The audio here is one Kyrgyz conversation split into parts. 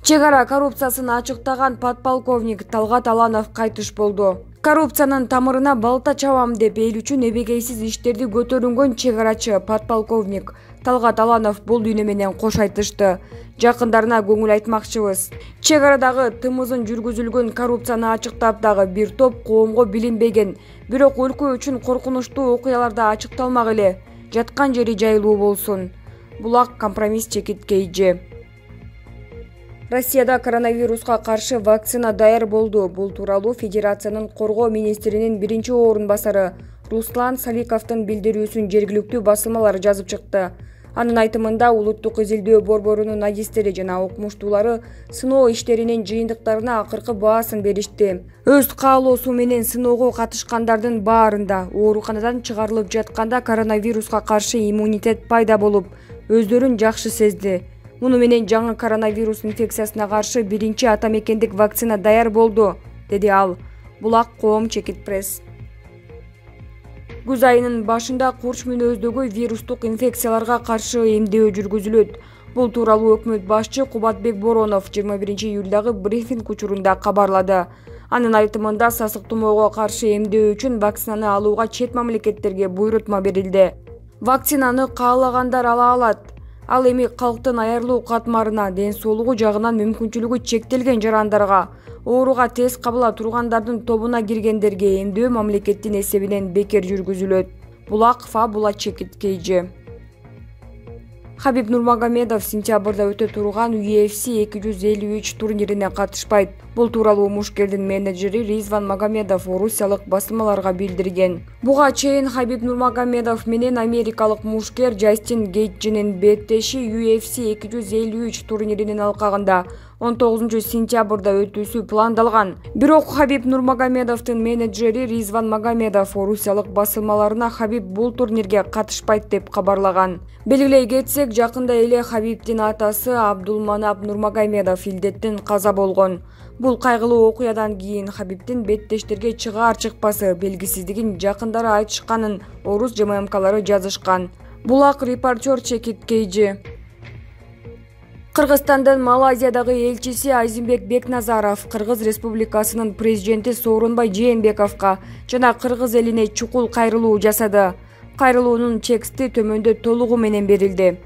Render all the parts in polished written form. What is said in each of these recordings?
Чек ара коррупциясын ачыктаган подполковник Талгат Аланов кайтыш болду. Коррупциянын тамырына балта чабам деп эл үчүн эбегейсиз иштерди көтөрүнгөн чек арачы подполковник Талгат Аланов бул дүйнө менен кош айтышты. Жакындарына көңүл айтмакчыбыз. Чек арадагы тымызын жүргүзүлгөн коррупцияны ачыктап дагы бир топ коомго билинбеген, бирок өлкө үчүн коркунучтуу окуяларда ачыкталмак эле. Жаткан жери жайлуу болсун. Булак компромисс чекиткейжи. Россияда коронавируска каршы вакцина даяр болду. Бул тууралуу Федерациянын коргоо министринин биринчи орун басары Руслан Саликовдун билдирүүсүн жергиликтүү басылмалар жазып чыкты. Анын айтымында улуттук изилдөө борборунун адистери жана окумуштуулары сыноо иштеринин жыйынтыктарына акыркы баасын беришти. Өз каалоосу менен сыноого катышкандардын баарында ооруканадан чыгарылып жатканда коронавируска каршы иммунитет пайда болуп, өздөрүн жакшы сезди. Муну менен жаңы коронавирус инфекциясына каршы биринчи ата мекендик вакцина даяр болду, деди ал. Булак коом чекит пресс. Күз айынын башында курч мүнөздөгү вирустук инфекцияларга каршы эмдөө жүргүзүлөт. Бул тууралуу өкмөт башчы Кубатбек Боронов 21-июлдагы брифинг учурунда кабарлады. Анын айтымында сасык тумоого каршы эмдөө үчүн вакцинаны алууга чет мамлекеттерге буйрутма берилди. Вакцинаны каалагандар ала алат. Ал эми калктын аярлуу катмарына, ден соолугу жагынан мүмкүнчүлүгү чектелген жарандарга, ооруга тез кабыла тургандардын тобуна киргендерге эмдөө мамлекеттин эсебинен бекер жүргүзүлөт. Булак Фабула чекиткейжи. Хабиб Нурмагомедов сентябрда өтө турган UFC 253 турнирине катышпайт. Бул тууралуу мушкердин менеджери Ризван Магомедов орусиялык басылмаларга билдирген. Буга чейин Хабиб Нурмагомедов менен америкалык мушкер Джастин Гейджинин беттеши UFC 253 турниринин алкагында 19-сентябрда өтүүсү пландалган. Бирок Хабиб Нурмагомедовдун менеджери Ризван Магомедов орусиялык басылмаларына Хабиб бул турнирге катышпайт деп кабарлаган. Белгилей кетсек, жакында эле Хабибдин атасы Абдулманап Нурмагомедов илдеттен каза болгон. Бул кайгылуу окуядан кийин Хабибдин беттештерге чыгаар-чыкпасы белгисиздигин жакындары айтышканын орус ЖММКлары жазышкан. Булак репортер чекиткейжи. Кыргызстандын Малайзиядагы элчиси Азимбек Бекназаров Кыргыз Республикасынын президенти Сооронбай Жээнбековго жана кыргыз элине чукул кайрылуу жасады. Кайрылуунун тексти төмөндө толугу менен берилди.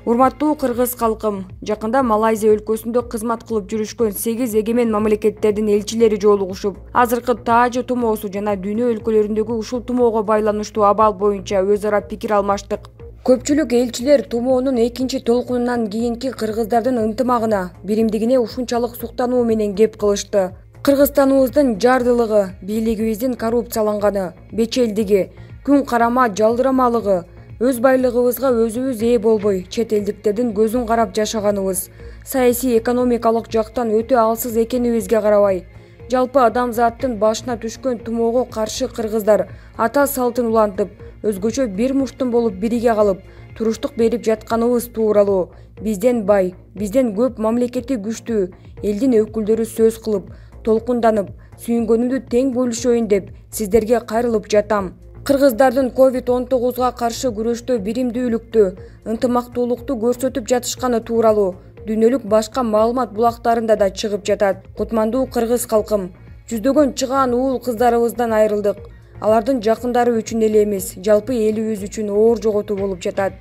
Урматтуу кыргыз калкым, жакында Малайзия өлкөсүндө кызмат кылып жүрүшкөн 8 эгемен мамлекеттердин элчилери жолугушуп, азыркы таажы тумоосу жана дүйнө өлкөлөрүндөгү ушул тумоого байланыштуу абал боюнча өз ара пикир алмаштык. Көпчүлүк элчилер тумоонун экинчи толкунунан кийинки кыргыздардын ынтымагына, биримдигине ушунчалык суктануу менен кеп кылышты. Кыргызстаныбыздын жардылыгы, бийлигибиздин коррупцияланганы, бечелдиги, күн карама жалдырамалыгы, өз байлыгыбызга өзүбүз ээ болбой, чет элдиктердин көзүн карап жашаганыбыз, саясий экономикалык жактан өтө алсыз экенибизге карабай, жалпы адамзаттын башына түшкөн тумоого каршы кыргыздар ата салтын улантып, өзгөчө бир муштум болуп бириге калып, туруштук берип жатканыбыз тууралуу бизден бай, бизден көп мамлекети күчтүү элдин өкүлдөрү сөз кылып, толкунданып, сүйүнгөнүмдү тең бөлүшөйүн деп сиздерге кайрылып жатам. Кыргыздардын COVID-19 каршы күрөштө биримдүүлүктү, ынтымактуулукту көрсөтүп жатышканы тууралуу дүйнөлүк башка маалымат булактарында да чыгып жатат. Кутмандуу кыргыз калкым, жүздөгөн чыгаан уул кыздарыбыздан айрылдык. Алардын жакындары үчүн эле эмес, жалпы элибиз үчүн оор жоготуу болуп жатат.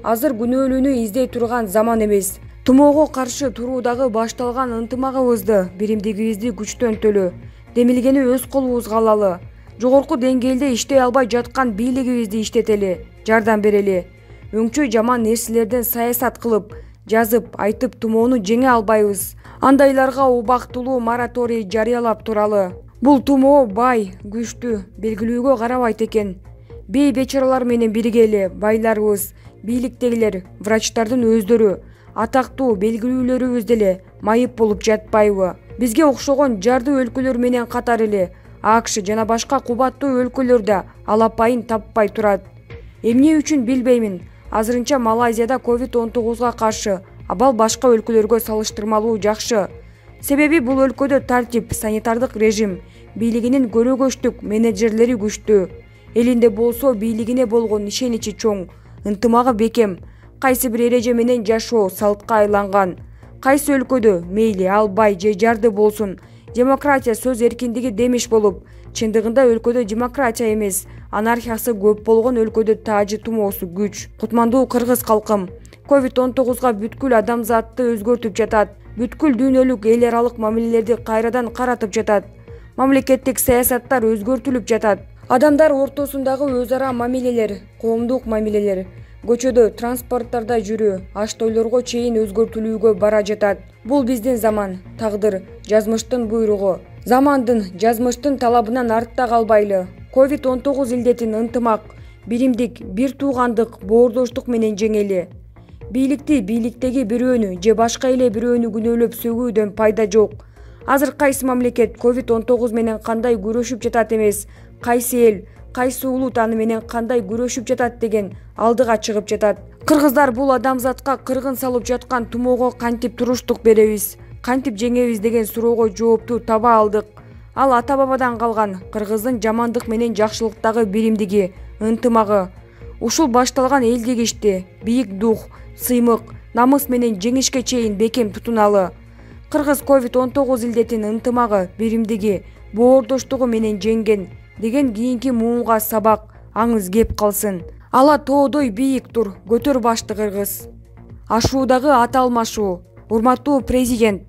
Азыр күнөөлүүнү издей турган заман эмес. Тумоого каршы туруудагы башталган ынтымагыбызды, биримдигибизди күчтөнтөлү, демилгени өз колубузга алалы. Жогорку деңгээлде иштей албай жаткан бийлигибизди иштетели, жардам берели. Өңчөй жаман нерселерден саясат кылып, жазып, айтып тумоону жеңе албайбыз. Андайларга убактылуу мораторий жарыялап туралы. Бул тумоо бай, күчтүү, белгилүүгө карабайт экен. Бей бечаралар менен биргели, байларыбыз, бийликтегилер, врачтардын өздөрү, атактуу белгилүүлөрүбүз деле майып болуп жатпайбы? Бизге окшогон жарды өлкөлөр менен катар эле АКШ жана башка кубаттуу өлкөлөрдө алапайын таппай турат. Эмне үчүн билбеймин. Азырынча Малайзияда COVID-19 каршы абал башка өлкөлөргө салыштырмалуу жакшы. Себеби бул өлкөдө тартип, санитардык режим, бийлигинин көрөгөчтүк менеджерлери күчтүү. Элинде болсо бийлигине болгон ишеничи чоң, ынтымагы бекем, кайсы бир эреже менен жашоо салтка айланган. Кайсы өлкөдө мейли ал бай же жарды болсун демократия сөз эркиндиги демиш болуп, чындыгында өлкөдө демократия эмес, анархиясы көп болгон өлкөдө таажы тумоосу күч. Кутмандуу кыргыз калкым, COVID-19 бүткүл адамзатты өзгөртүп жатат. Бүткүл дүйнөлүк эл аралык мамилелерди кайрадан каратып жатат. Мамлекеттик саясаттар өзгөртүлүп жатат. Адамдар ортосундагы өз ара мамилелер, коомдук мамилелер, көчөдө, транспорттарда жүрүү, аш тойлорго чейин өзгөртүлүүгө бара жатат. Бул биздин заман, тагдыр, жазмыштын буйругу. Замандын, жазмыштын талабынан артта калбайлы. COVID-19 илдетин ынтымак, биримдик, бир туугандык, боордоштук менен жеңели. Бийликти, бийликтеги бирөөнү же башка эле бирөөнү күнөөлөп сөгүүдөн пайда жок. Азыр кайсы мамлекет COVID-19 менен кандай күрөшүп жатат эмес, кайсы эл, кайсы улут аны менен кандай күрөшүп жатат деген алдыга чыгып жатат. Кыргыздар бул адамзатка кыргын салып жаткан тумоого кантип туруштук беребиз, кантип жеңебиз деген суроого жоопту таба алдык. Ал ата бабадан калган кыргыздын жамандык менен жакшылыктагы биримдиги, ынтымагы. Ушул башталган элдик ишти бийик дух, сыймык, намыс менен жеңишке чейин бекем тутуналы. Кыргыз COVID-19 илдетин ынтымагы, биримдиги, боордоштугу менен жеңген деген кийинки муунга сабак, аңыз кеп калсын. Ала тоодой бийик тур, көтөр башты кыргыз. Ашуудагы ат алмашуу. Урматтуу президент,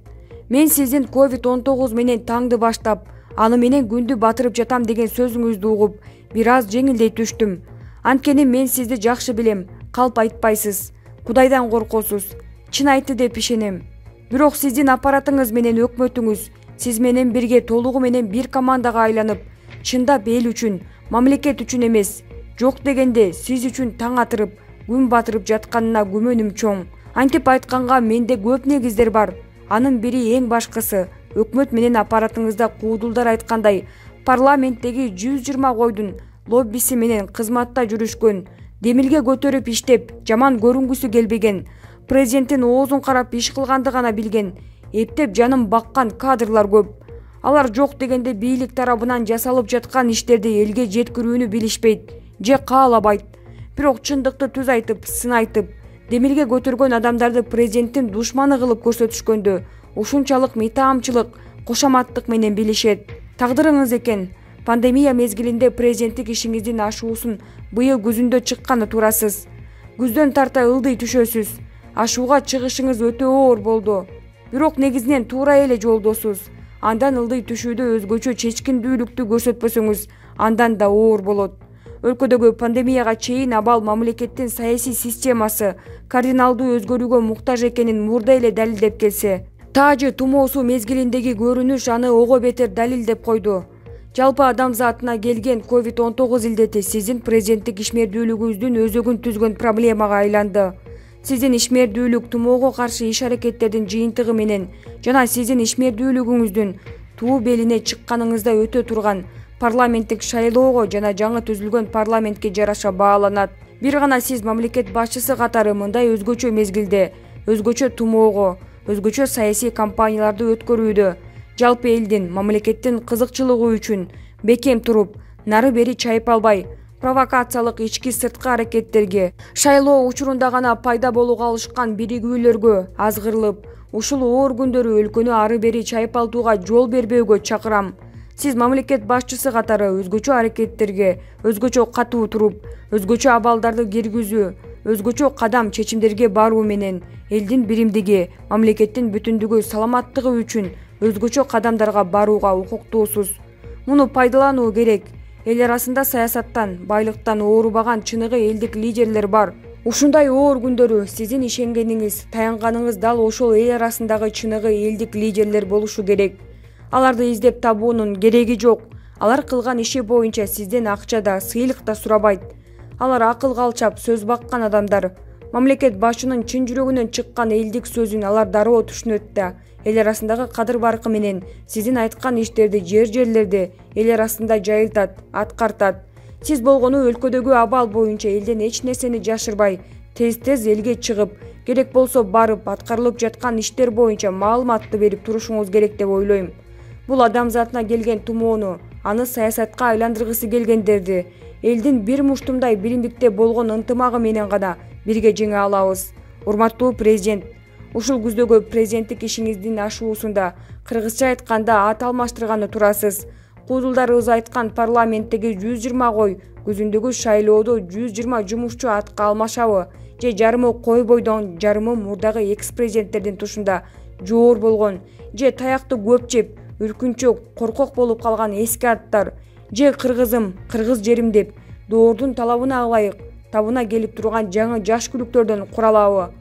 мен сиздин COVID-19 менен таңды баштап, аны менен күндү батырып жатам деген сөзүңүздү угуп, бир аз жеңилдей түштүм. Анткени мен сизди жакшы билем, калп айтпайсыз, Кудайдан коркосуз, чын айтты деп ишенем. Бирок сиздин аппаратыңыз менен өкмөтүңүз сиз менен бирге толугу менен бир командага айланып, чындап эл үчүн, мамлекет үчүн эмес, жок дегенде сиз үчүн таң атырып, күн батырып жатканына күмөнүм чоң. Антип айтканга менде көп негиздер бар. Анын бири эң башкысы, өкмөт менен аппаратыңызда куудулдар айткандай, парламенттеги 120 койдун лоббиси менен кызматта жүрүшкөн, демилге көтөрүп иштеп, жаман көрүнгүсү келбеген, президенттин оозун карап иш кылганды гана билген, эптеп жанын баккан кадрлар көп. Алар жок дегенде бийлик тарабынан жасалып жаткан иштерди элге жеткирүүнү билишпейт же каалабайт. Бирок чындыкты түз айтып, сын айтып, демилге көтөргөн адамдарды президенттин душманы кылып көрсөтүшкөндө ушунчалык мыйтаамчылык, кошоматтык менен билишет. Тагдырыңыз экен. Пандемия мезгилинде президенттик ишиңиздин ашуусун быйыл күзүндө чыкканы турасыз. Күздөн тарта ылдый түшөсүз. Ашууга чыгышыңыз өтө оор болду. Бирок негизинен туура эле жолдосуз. Андан ылдый түшүүдө өзгөчө чечкиндүүлүктү көрсөтпөсөңүз, андан да оор болот. Өлкөдөгү пандемияга чейин абал мамлекеттин саясий системасы кардиналдуу өзгөрүүгө муктаж экенин мурда эле далилдеп келсе, таажы тумоосу мезгилиндеги көрүнүш аны ого бетер далилдеп койду. Жалпы адамзатына келген COVID-19 илдети сиздин президенттик ишмердүүлүгүңүздүн өзөгүн түзгөн проблемага айланды. Сиздин ишмердүүлүк тумоого каршы иш-аракеттердин жыйынтыгы менен жана сиздин ишмердүүлүгүңүздүн туу белине чыкканыңызда өтө турган парламенттик шайлоого жана жаңы түзүлгөн парламентке жараша бааланат. Бир гана сиз мамлекет башчысы катары мындай өзгөчө мезгилде, өзгөчө тумоого, өзгөчө саясий кампанияларды өткөрүүдө, жалпы элдин, мамлекеттин кызыкчылыгы үчүн бекем туруп, нары бери чайып албай, провокациялык ички-сырткы аракеттерге, шайлоо учурунда гана пайда болууга алышкан биригүүлөргө азгырылып, ушул оор күндөрү өлкөнү ары бери чайып алдууга жол бербөөгө чакырам. Сиз мамлекет башчысы катары өзгөчө аракеттерге, өзгөчө катуу туруп, өзгөчө абалдарды киргизүү, өзгөчө кадам чечимдерге баруу менен элдин биримдиги, мамлекеттин бүтүндүгү, саламаттыгы үчүн өзгөчө кадамдарга барууга укуктуусуз. Муну пайдалануу керек. Эл арасында саясаттан, байлыктан оорубаган чыныгы элдик лидерлер бар. Ушундай оор күндөрү сиздин ишенгениңиз, таянганыңыз дал ошол эл арасындагы чыныгы элдик лидерлер болушу керек. Аларды издеп табуунун кереги жок. Алар кылган иши боюнча сизден акча да, сыйлык да сурабайт. Алар акыл калчап, сөз баккан адамдар. Мамлекет башчынын чын жүрөгүнөн чыккан элдик сөзүн алар дароо түшүнөт да, эл арасындагы кадыр баркы менен сиздин айткан иштерди жерлерде эл арасында жайылтат, аткартат. Сиз болгону өлкөдөгү абал боюнча элден эч нерсени жашырбай, тез элге чыгып, керек болсо барып, аткарылып жаткан иштер боюнча маалыматты берип турушуңуз керек деп ойлойм. Бул адамзатына келген тумоону, аны саясатка айландыргысы келгендерди элдин бир муштумдай биримдикте болгон ынтымагы менен гана бирге жеңе алабыз. Урматтуу президент, Ушул күздөгү президенттик ишиңиздин ашуусунда кыргызча айтканда ат алмаштырганы турасыз. Куудулдарыбыз айткан парламенттеги 120 кой, күзүндөгү шайлоодо 120 жумушчу атка алмашабы же жарымы кой бойдон, жарымы мурдагы экс-президенттердин тушунда жоор болгон же таякты көп жеп, үркүнчөк, коркок болуп калган эски аттар же кыргызым, кыргыз жерим деп доордун талабына ылайык табына келип турган жаңы жаш күлүктөрдөн куралабы?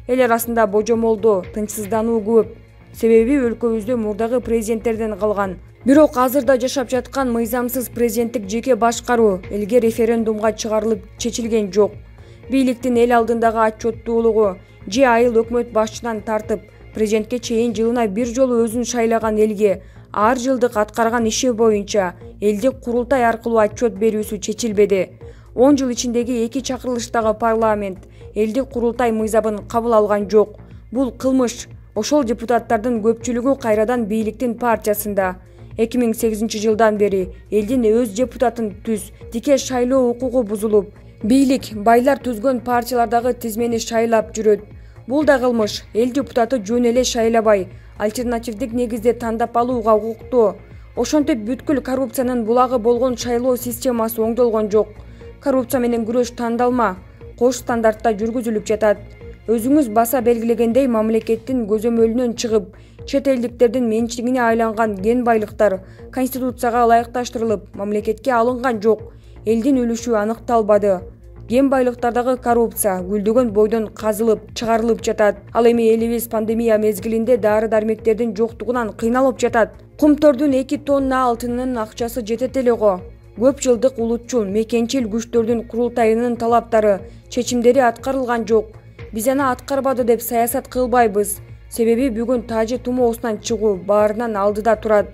Эл арасында божомолдоо, тынчсыздануу көп. Себеби өлкөбүздө мурдагы президенттерден калган. Бирок азырда жашап жаткан мыйзамсыз президенттик жеке башкаруу элге референдумга чыгарылып чечилген жок. Бийликтин эл алдындагы отчеттуулугу же айыл өкмөт башчынан тартып, президентке чейин жылына бир жолу өзүн шайлаган элге ар жылдык аткарган иши боюнча элдик курултай аркылуу отчет берүүсү чечилбеди. 10 жыл ичиндеги 2 чакырылыштагы парламент элдик курултай мыйзабын кабыл алган жок. Бул кылмыш. Ошол депутаттардын көпчүлүгү кайрадан бийликтин партиясында. 2008 жылдан бери элдин өз депутатын түз, дике шайлоо укугу бузулуп, бийлик байлар түзгөн партиялардагы тизмени шайлап жүрөт. Бул да кылмыш. Эл депутаты жөн эле шайлабай, альтернативдик негизде тандап алууга укуктуу. Ошентип бүткүл коррупциянын булагы болгон шайлоо системасы оңдолгон жок. Коррупция менен күрөш тандалма, кош стандартта жүргүзүлүп жатат. Өзүңүз баса белгилегендей, мамлекеттин көзөмөлүнөн чыгып, чет элдиктердин менчигине айланган кен байлыктар конституцияга ылайыкташтырылып, мамлекетке алынган жок. Элдин үлүшү аныкталбады. Кен байлыктардагы коррупция гүлдөгөн бойдон казылып, чыгарылып жатат. Ал эми элибиз пандемия мезгилинде дары-дармектердин жоктугунан кыйналып жатат. Кумтордун 2 тонна алтынынын акчасы жетет эле го. Көп жылдык улутчул, мекенчил күчтөрдүн курултайынын талаптары, чечимдери аткарылган жок. Биз аны аткарбады деп саясат кылбайбыз. Себеби бүгүн тажы тумоосунан чыгуу баарынан алдыда турат.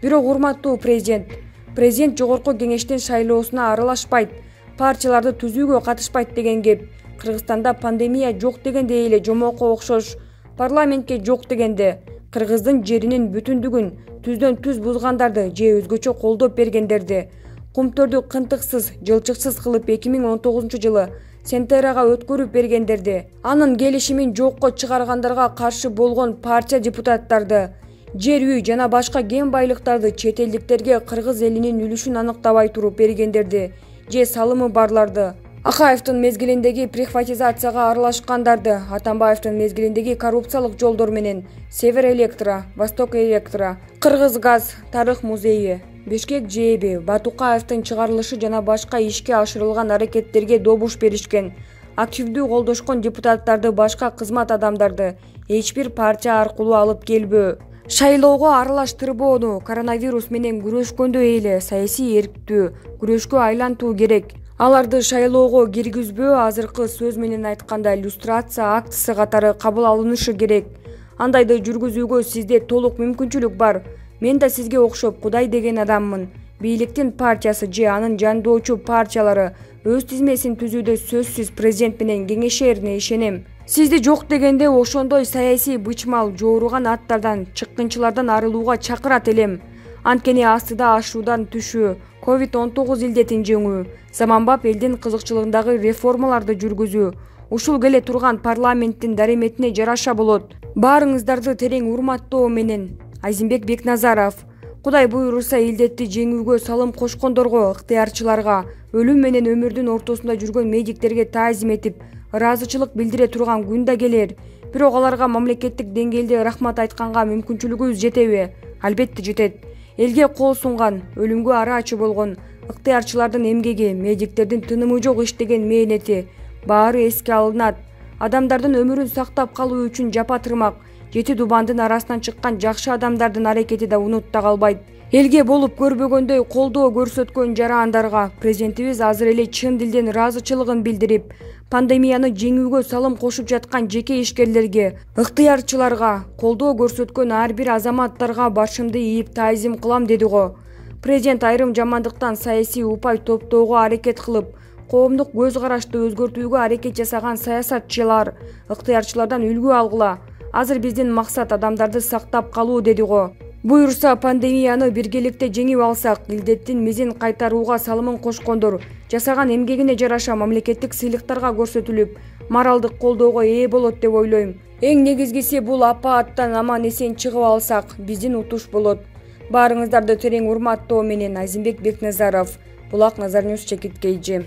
Бирок урматтуу президент жогорку кеңештин шайлоосуна аралашпайт, партияларды түзүүгө катышпайт деген кеп. Кыргызстанда пандемия жок дегенде эле жомоко окшош, парламентке жок дегенде кыргыздын жеринин бүтүндүгүн түздөн түз бузгандарды же өзгөчө колдоп бергендерди, кумтөрдү кынтыксыз, жылчыксыз кылып 2019 жылы Сентерага өткөрүп бергендерди, анын келишимин жокко чыгаргандарга каршы болгон партия депутаттарды, жер үй жана башка кен байлыктарды чет элдиктерге кыргыз элинин үлүшүн аныктабай туруп бергендерди, же салымы барларды, Акаевдин мезгилиндеги приватизацияга аралашкандарды, Атамбаевдин мезгилиндеги коррупциялык жолдор менен Север Электро, Восток Электро, Кыргыз газ, Тарых музейи, Бишкек ЖЭБи, Батукаевдин чыгарылышы жана башка ишке ашырылган аракеттерге добуш беришкен, активдүү колдошкон депутаттарды, башка кызмат адамдарды эч бир партия аркылуу алып келбөө. Шайлоого аралаштырбоону коронавирус менен күрөшкөндөй эле саясий эрктүү күрөшкө айлантуу керек. Аларды шайлоого киргизбөө азыркы сөз менен айтканда иллюстрация актысы катары кабыл алынышы керек. Андайды жүргүзүүгө сизде толук мүмкүнчүлүк бар. Мен да сизге окшоп Кудай деген адаммын. Бийликтин партиясы же анын жандоочу партиялары өз тизмесин түзүүдө сөзсүз президент менен кеңешерине ишенем. Сизди жок дегенде ошондой саясий бычмал жооруган аттардан, чыккынчылардан арылууга чакырат элем. Анткени астыда ашуудан түшүү, COVID-19 илдетин жеңүү, заманбап элдин кызыкчылыгындагы реформаларды жүргүзүү, ушул келе турган парламенттин дареметине жараша болот. Баарыңыздарды терең урматтоо менен Айзимбек Бекназаров. Кудай буйруса илдетти жеңүүгө салым кошкондорго, ыктыярчыларга, өлүм менен өмүрдүн ортосунда жүргөн медиктерге таазим этип, ыраазычылык билдире турган күн да келер. Бирок аларга мамлекеттик деңгээлде рахмат айтканга мүмкүнчүлүгүбүз жетеби? Албетте жетет. Элге кол сунган, өлүмгө араачы болгон ыктыярчылардын эмгеги, медиктердин тынымы жок иштеген мээнети баары эске алынат. Адамдардын өмүрүн сактап калуу үчүн жапа тырмак, 7 дубандын арасынан чыккан жакшы адамдардын аракети да унутта калбайт. Элге болуп көрбөгөндөй колдоо көрсөткөн жарандарга президентибиз азыр эле чын дилден ыраазычылыгын билдирип, пандемияны жеңүүгө салым кошуп жаткан жеке ишкерлерге, ыктыярчыларга, колдоо көрсөткөн ар бир азаматтарга башымды ийип таазим кылам деди го. Президент айрым жамандыктан саясий упай топтоого аракет кылып, коомдук көз карашты өзгөртүүгө аракет жасаган саясатчылар, ыктыярчылардан үлгү алгыла. Азыр биздин максат адамдарды сактап калуу деди го. Буюрса пандемияны биргеликте жеңип алсак, илдеттин мизин кайтарууга салымын кошкондор жасаган эмгегине жараша мамлекеттик сыйлыктарга көрсөтүлүп, моралдык колдоого ээ болот деп ойлойм. Эң негизгиси бул апааттан аман эсен чыгып алсак, биздин утуш болот. Баарыңыздарды терең урматтоо менен Айзимбек Бекназаров, Булак Назар Ньюс, Чекит KG.